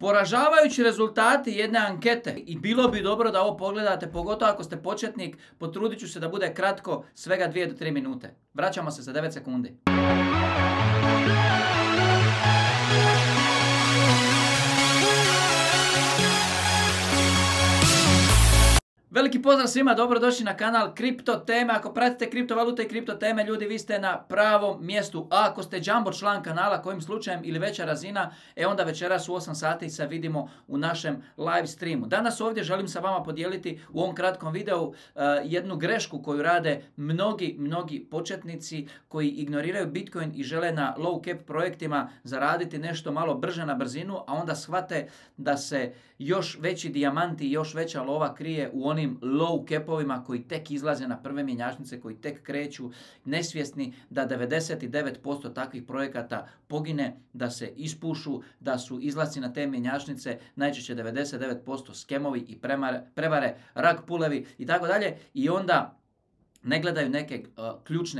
Poražavajući rezultati jedne ankete i bilo bi dobro da ovo pogledate, pogotovo ako ste početnik, potrudit ću se da bude kratko, svega 2 do 3 minute. Vraćamo se za 9 sekundi. Veliki pozdrav svima, dobrodošli na kanal Kripto teme. Ako pratite kriptovalute i kripto teme, ljudi, vi ste na pravom mjestu. A ako ste jumbo član kanala, kojim slučajem ili veća razina, onda večeras u 8 sati se vidimo u našem live streamu. Danas ovdje želim sa vama podijeliti u ovom kratkom videu jednu grešku koju rade mnogi početnici koji ignoriraju Bitcoin i žele na low cap projektima zaraditi nešto malo brže na brzinu, a onda shvate da se još veći dijamanti i još veća lova krije u onim low capovima koji tek izlaze na prve mjenjačnice, koji tek kreću, nesvjesni da 99% takvih projekata pogine, da se ispušu, da su izlasci na te mjenjačnice najčešće 99% skemovi i prevare, rug pullevi i tako dalje, i onda ne gledaju neke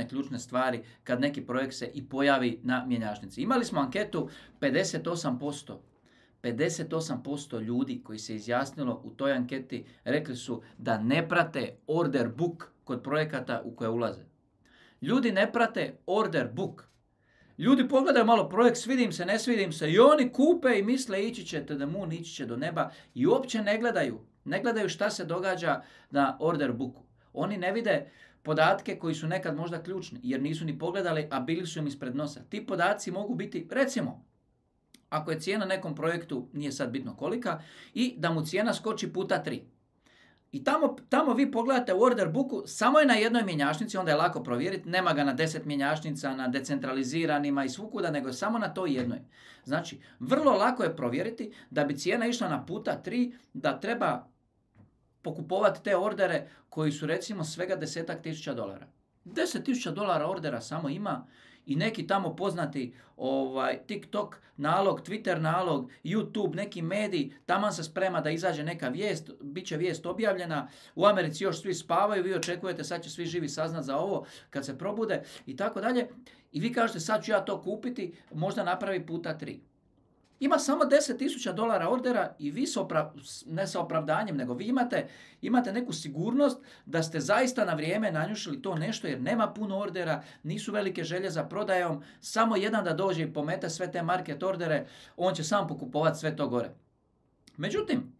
ključne stvari kad neki projekt se i pojavi na mjenjačnici. Imali smo anketu 58% ljudi koji se izjasnilo u toj anketi rekli su da ne prate order book kod projekata u koje ulaze. Ljudi ne prate order book. Ljudi pogledaju malo projekt, svidi im se, ne svidi im se i oni kupe i misle ići će to the moon, ići će do neba i uopće ne gledaju šta se događa na order booku. Oni ne vide podatke koji su nekad možda ključni jer nisu ni pogledali, a bili su im ispred nosa. Ti podaci mogu biti, recimo, ako je cijena nekom projektu, nije sad bitno kolika, i da mu cijena skoči puta 3. I tamo vi pogledate u order booku, samo je na jednoj mjenjačnici, onda je lako provjeriti, nema ga na 10 mjenjačnica, na decentraliziranima i svukuda, nego je samo na toj jednoj. Znači, vrlo lako je provjeriti da bi cijena išla na puta 3, da treba pokupovati te ordere koji su recimo svega $10,000. $10,000 ordera samo ima. I neki tamo poznati TikTok nalog, Twitter nalog, YouTube, neki mediji, taman se sprema da izađe neka vijest, bit će vijest objavljena, u Americi još svi spavaju, vi očekujete sad će svi živi saznat za ovo kad se probude i tako dalje. I vi kažete sad ću ja to kupiti, možda napravi puta 3. Ima samo $10,000 ordera i vi ne sa opravdanjem, nego vi imate neku sigurnost da ste zaista na vrijeme nanjušili to nešto jer nema puno ordera, nisu velike želje za prodajom, samo jedan da dođe i pomete sve te market ordere, on će sam pokupovati sve to gore. Međutim,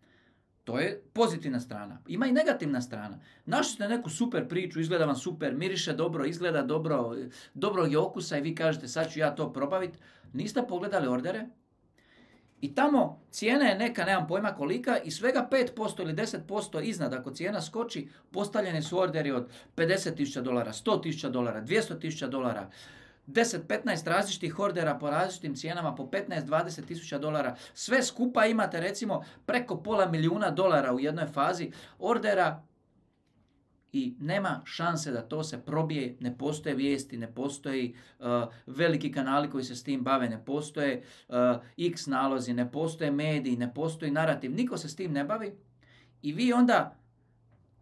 to je pozitivna strana. Ima i negativna strana. Našli ste neku super priču, izgleda vam super, miriše dobro, izgleda dobro, dobrog je okusa i vi kažete sad ću ja to probaviti. Niste pogledali ordere. I tamo cijena je neka, nemam pojma kolika, i svega 5% ili 10% iznad, ako cijena skoči, postavljeni su orderi od $50,000, $100,000, $200,000, 10-15 različitih ordera po različitim cijenama, po $15-20,000. Sve skupa imate recimo preko $500,000 u jednoj fazi ordera i nema šanse da to se probije, ne postoje vijesti, ne postoji veliki kanali koji se s tim bave, ne postoje X nalozi, ne postoje mediji, ne postoji narativ, niko se s tim ne bavi i vi onda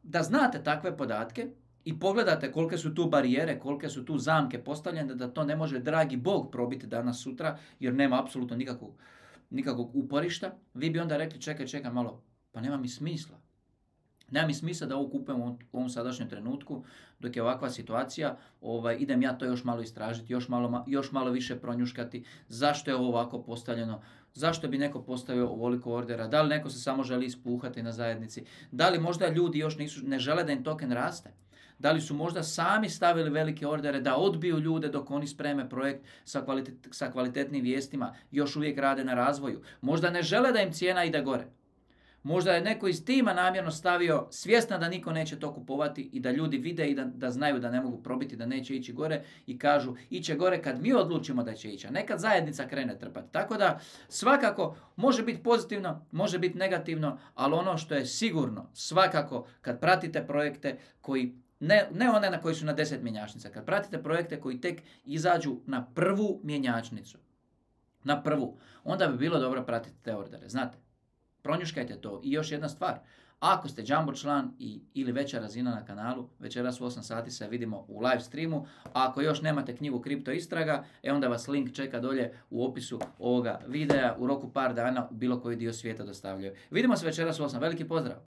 da znate takve podatke i pogledate kolike su tu barijere, kolike su tu zamke postavljene da to ne može dragi Bog probiti danas sutra jer nema apsolutno nikakvog uporišta, vi bi onda rekli čekaj malo, pa nema mi smisla. Nema mi smisla da ovo kupujem u ovom sadašnjem trenutku, dok je ovakva situacija, idem ja to još malo istražiti, još malo više pronjuškati, zašto je ovo ovako postavljeno, zašto bi neko postavio ovoliko ordera, da li neko se samo želi ispuhati na zajednici, da li možda ljudi još ne žele da im token raste, da li su možda sami stavili velike ordere da odbiju ljude dok oni spreme projekt sa kvalitetnim vijestima, još uvijek rade na razvoju, možda ne žele da im cijena ide gore. Možda je neko iz tima namjerno stavio svjestan da niko neće to kupovati i da ljudi vide i da znaju da ne mogu probiti, da neće ići gore i kažu iće gore kad mi odlučimo da će ići, a nekad zajednica krene trpati. Tako da svakako može biti pozitivno, može biti negativno, ali ono što je sigurno svakako kad pratite projekte koji ne one na koji su na 10 mjenjačnica, kad pratite projekte koji tek izađu na prvu mjenjačnicu, onda bi bilo dobro pratiti te ordere, znate. Pronjuškajte to. I još jedna stvar, Ako ste Jumbo član ili veća razina na kanalu, večeras u 8 sati se vidimo u live streamu. A ako još nemate knjigu Kripto istraga, onda vas link čeka dolje u opisu ovoga videa. U roku par dana u bilo koji dio svijeta dostavljaju. Vidimo se večeras u 8. Veliki pozdrav!